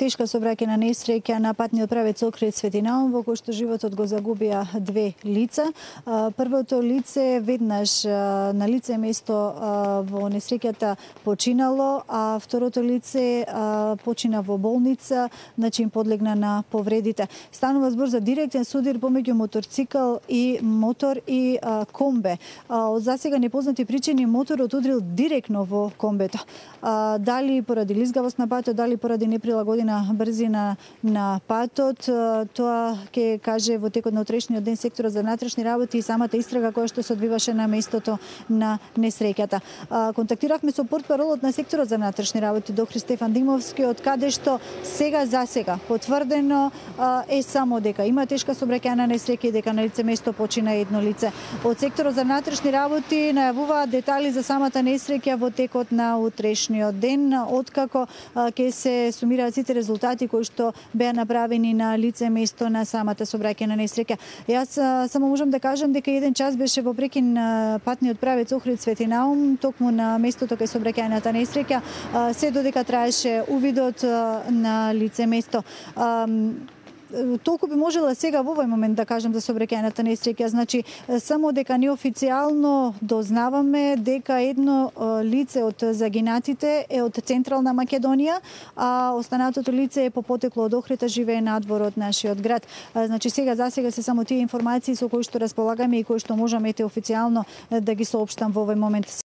тешка сообраќајна несреќа на патниот правец Охрид Свети Наум, во кој што животот го загубија две лица. Првото лице веднаш на лице место во несреќата починало, а второто лице почина во болница, значи им подлегна на повредите. Станува збор за директен судир помеѓу моторцикл и мотор и комбе. Од засега непознати причини моторот удрил директно во комбето. Дали поради лизгавост на патот, дали поради неприлагодена брзина на патот, тоа ќе каже во текот на утрешниот ден секторот за внатрешни работи и самата истрага која што се одвиваше на местото на несреќата. Контактиравме со портпаролот на секторот за внатрешни работи доктор Стефан Димовски, од каде што сега за сега потврдено е само дека има тешка сообраќајна несреќа и дека на лице место почина едно лице. Од секторот за внатрешни работи најавуваат детали за самата несреќа во текот на утрешниот ден, откако ќе се сумираат сите резултати кои што беа направени на лице место на самата сообраќајна несреќа. Јас само можам да кажам дека еден час беше во прекин патниот правец Охрид Свети Наум, токму на местото кај сообраќајната несреќа, се додека траеше увидот на лице место. Толку би можела сега во овој момент да кажам за сообраќајната несреќа, значи само дека неофицијално дознаваме дека едно лице од загинатите е од Централна Македонија, а останатото лице е по потекло од Охрид, живее надвор од нашиот град. Значи сега за сега се само тие информации со кои што располагаме и кои што можам официјално да ги соопштам во овој момент.